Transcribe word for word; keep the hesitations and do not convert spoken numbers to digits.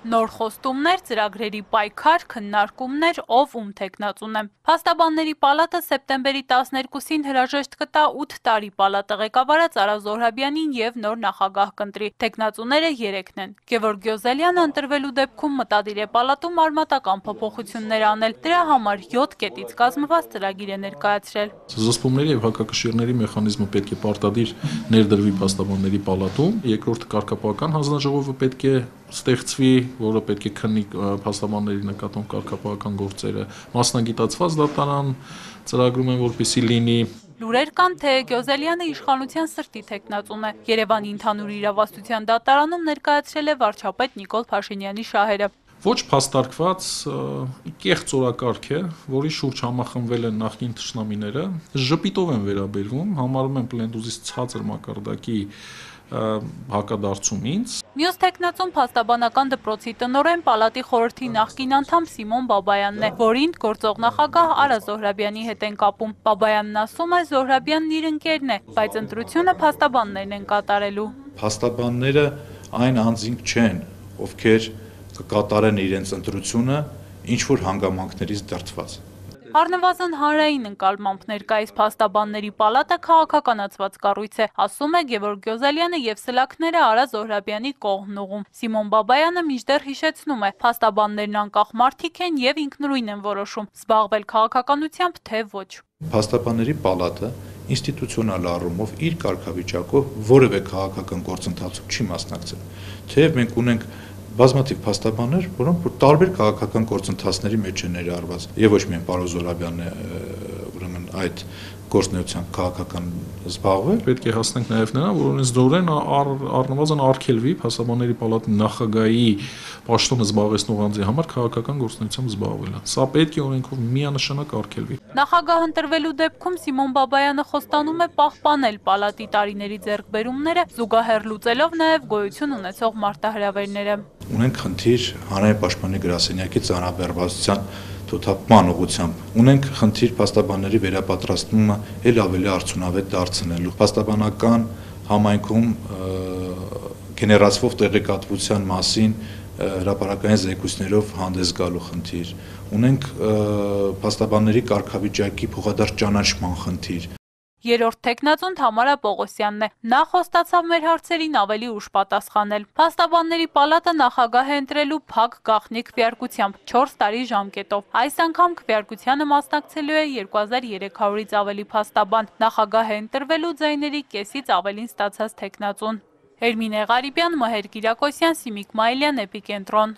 Նոր խոստումներ, ծրագրերի պայքար, քննարկումներ, ով ում թեկնածուն է։ Փաստաբանների պալատը սեպտեմբերի տասներկուսին հրաժեշտ կտա ութ տարի պալատը ղեկավարած Արա Զոհրաբյանին և նոր նախագահ կընտրի։ Թեկնածուները երեքն են։ Գևորգ Գյոզելյանը ընտրվելու դեպքում մտադիր է պալատում արմատական փոփոխություններ անել։ Դրա համար յոթ կետից կազմված ծրագիր է ներկայացրել։ Զսպումների և հակակշիռների մեխանիզմը պետք է պարտադիր ներդրվի փաստաբանների պալատում, երկրորդ կարգապահական հանձնաժողովը պետք է ստեղծվի, որը պետք է քննի փաստաբանների նկատմամբ կարգապահական գործերը, մասնագիտացված դատարան ծրագրում են, որպեսզի լինի։ Լուրեր կան, թե Գյոզելյանը իշխանության սրտի թեկնածուն է։ Երևանի ընդհանուր իրավասության դատարանում ներկայացրել է վարչապետ Նիկոլ Փաշինյանի շահերը։ Ոչ փաստարկված կեղծ օրակարգ է, որի շուրջ համախմբվել են նախկին թշնամիները, ժպիտով են վերաբերվում, համարում են պլենդուզից ցածր մակարդակի հակադարձում ինձ։ Մյուս թեկնածուն փաստաբանական դպրոցի տնօրեն պալատի խորհրդի նախկին անդամ Սիմոն Բաբայանն է, որին գործող նախագահ Արա Զոհրաբյանի հետ են կապում։ Բաբայանն ասում է, Զոհրաբյանն իր ընկերն է, բայց ընտրությունը փաստաբաններն են կատարելու։ Փաստաբանները այն անձինք չեն, ովքեր կկատարեն իրենց ընտրությունը ինչ-որ հանգամանքներից դրդված։ Առնվազն հանրային ընկալմամբ ներկայիս փաստաբանների պալատը քաղաքականացված կառույց է, ասում է Գևորգ Գյոզելյանը և սլաքները Արա Զոհրաբյանի կողմն ուղղում։ Սիմոն Բաբայանը մինչդեռ հիշեցնում է, փաստաբաններն անկախ մարդիկ են և ինքնուրույն են որոշում, զբաղվել քաղաքականությամբ, թե ոչ։ Փաստաբանների պալատը ինստիտուցիոնալ առումով իր կարգավիճակով որևէ քաղաքական գործընթացում չի մասնակցել, թեև մենք ունենք բազմաթիվ փաստաբաններ, որոնք տարբեր քաղաքական գործընթացների մեջ են ներառված, եւ ոչ միայն պարոն Զոհրաբյանն է ուրեմն այդ գործնեությամբ քաղաքական զբաղվել։ Պետք է հասնենք նաեւ նրան, որ օրենսդրորեն առնվազն արգելվի փաստաբանների պալատի նախագահի պաշտոնը զբաղեցնող անձի համար քաղաքական գործնեությամբ զբաղվելը։ Սա պետք է օրենքով միանշանակ արգելվի։ Նախագահ ընտրվելու դեպքում Սիմոն Բաբայանը խոստանում է պահպանել պալատի տարիների ձեռքբերումները, զուգահեռ լուծելով նաեւ գոյություն ունեցող մարտահրավերները։ Ունենք խնդիր հանրային պաշտպանի գրասենյակի ծանրաբեռվածության թոթափման ուղղությամբ։ Ունենք խնդիր փաստաբանների վերապատրաստումը ել ավելի արդյունավետ դարձնելու։ Փաստաբանական համայնքում գեներացվող տեղեկատվության մասին հրապարակային զեկույցներով հանդես գալու խնդիր։ Ունենք փաստաբանների կարգավիճակի փոխադարձ ճանաչման խնդիր։ Երրորդ թեկնածուն Թամարա Պողոսյանն է։ Նա խոստացավ մեր հարցերին ավելի ուշ պատասխանել։ Փաստաբանների պալատը նախագահ է ընտրելու փակ գաղտնի քվեարկությամբ չորս տարի ժամկետով։ Այս անգամ քվեարկությանը մասնակցելու է երկու հազար երեք հարյուրից ավելի փաստաբան։ Նախագահ է ընտրվելու ձայների կեսից ավելին ստացած թեկնածուն։ Էրմինե Ղարիբյան, Մհեր Կիրակոսյան, Սիմիկ Մայիլյան, Էպիկենտրոն։